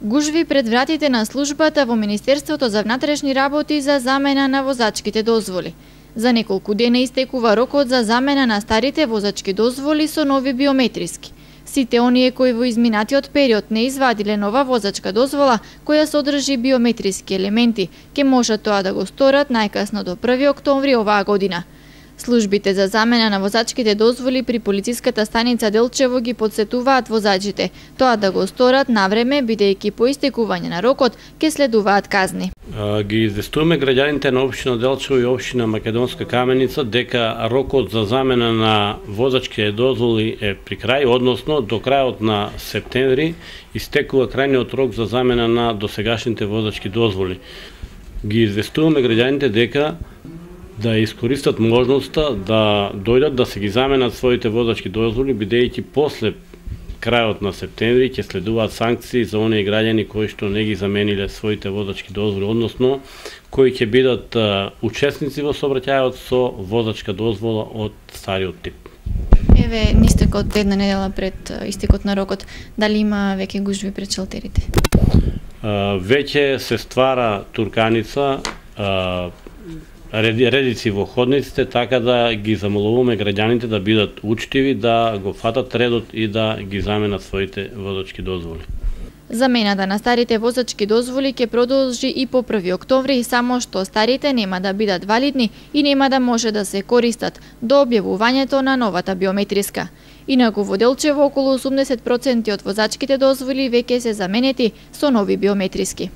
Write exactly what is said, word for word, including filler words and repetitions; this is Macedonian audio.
Гужви пред вратите на службата во Министерството за внатрешни работи за замена на возачките дозволи. За неколку дена истекува рокот за замена на старите возачки дозволи со нови биометриски. Сите оние кои во изминатиот период не извадиле нова возачка дозвола која содржи биометриски елементи, ќе можат тоа да го сторат најкасно до први октомври оваа година. Службите за замена на возачките дозволи при полициската станица Делчево ги подсетуваат возачите тоа да го сторат навреме, бидејќи по истекување на рокот ќе следуваат казни. Ги известуваме граѓаните на општина Делчево и општина Македонска Каменица дека рокот за замена на возачки дозволи е при крај, односно до крајот на септември истекува крајниот рок за замена на досегашните возачки дозволи. Ги известуваме граѓаните дека да искористат можноста да дојдат да се ги заменат своите возачки дозволи, бидејќи после крајот на септември ќе следуваат санкции за оние граѓани кои што не ги замениле своите возачки дозволи, односно кои ќе бидат учесници во сообраќајот со возачка дозвола од стариот тип. Еве, нистекот една недела пред истекот на рокот, дали има веќе гужви пред шалтерите? Веќе се ствара турканица, редици во ходниците, така да ги замолуваме граѓаните да бидат учтиви, да го фатат редот и да ги заменат своите возачки дозволи. Замената на старите возачки дозволи ќе продолжи и по први октомври, само што старите нема да бидат валидни и нема да може да се користат до објавувањето на новата биометриска. Инаку во Делчево околу осумдесет проценти од возачките дозволи веќе се заменети со нови биометриски.